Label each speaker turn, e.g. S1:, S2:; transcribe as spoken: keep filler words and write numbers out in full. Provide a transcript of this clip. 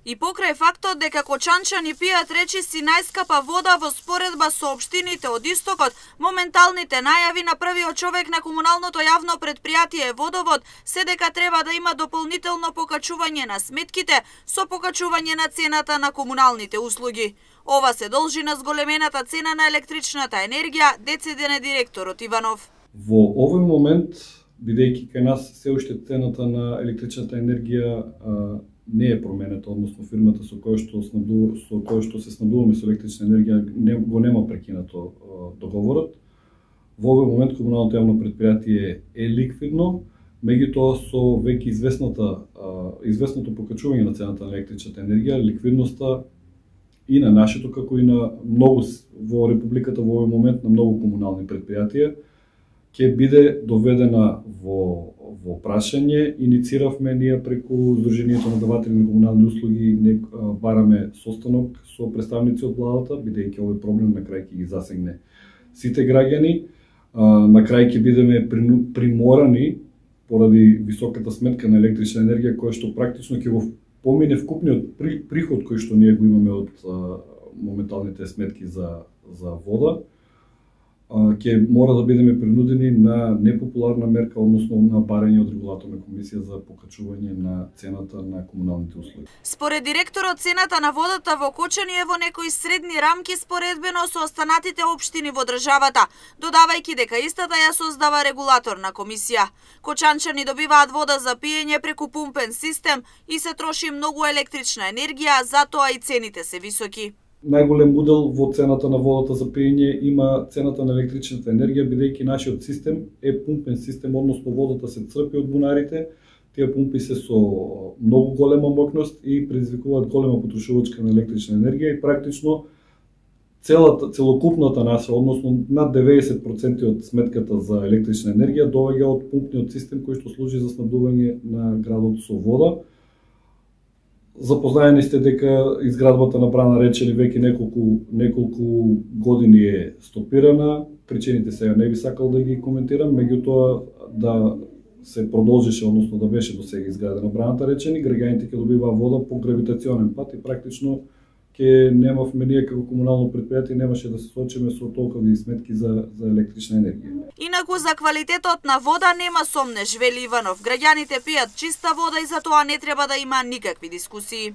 S1: И покрај фактот дека кочанчани пијат речиси најскапа вода во споредба со општините од Истокот, моменталните најави на првиот човек на комуналното јавно претпријатие Водовод се дека треба да има дополнително покачување на сметките со покачување на цената на комуналните услуги. Ова се должи на зголемената цена на електричната енергија, децидене директорот Иванов.
S2: Во овој момент, бидејќи кај нас се уште цената на електричната енергија а, не е променета, односно фирмата со која што снабду, со која што се снабдуваме со електрична енергија не, го нема прекинато а, договорот. Во овој момент комуналното јавно претпријатие е ликвидно, меѓутоа со веќе известната а, известното покачување на цената на електричната енергија, ликвидноста и на нашето, како и на многу во републиката во овој момент на многу комунални претпријатија ќе биде доведена во во прашање. Иницииравме ние преку Сдруженијето на даватели на комунални услуги, не бараме состанок со представници од владата, бидејќи овој проблем на крај ќе ги засегне сите граѓани. На крај ќе бидеме приморани поради високата сметка на електрична енергија, која што практично ќе го помине вкупниот приход кој што ние го имаме од моменталните сметки за за вода, ќе мора да бидеме принудени на непопуларна мерка, односно на барање од регулаторна комисија за покачување на цената на комуналните услуги.
S1: Според директорот, цената на водата во Кочани е во некои средни рамки споредбено со останатите општини во државата, додавајќи дека истата ја создава регулаторна комисија. Кочанчани добиваат вода за пиење преку пумпен систем и се троши многу електрична енергија, затоа и цените се високи.
S2: Најголем удел во цената на водата за пиење има цената на електричната енергија, бидејќи нашиот систем е пумпен систем, односно водата се црпи од бунарите. Тие пумпи се со многу голема моќност и предизвикуваат голема потрошувачка на електрична енергија и практично целата целокупната наша, односно над деветдесет проценти од сметката за електрична енергија доаѓа од пумпниот систем кој што служи за снабдување на градот со вода. Запознаени сте дека изградбата на брана Речени веќе неколку неколку години е стопирана. Причините сега не би сакал да ги коментирам, меѓутоа да се продолжише, односно да беше до сега изградена браната Речени, граѓаните ќе добиваа вода по гравитационен пат и практично ќе немавме ние како комунално претпријатие немаше да се соочиме со толкови сметки за за електрична енергија.
S1: Инаку за квалитетот на вода нема сомнеш, вели Иванов. Граѓаните пијат чиста вода и за тоа не треба да има никакви дискусии.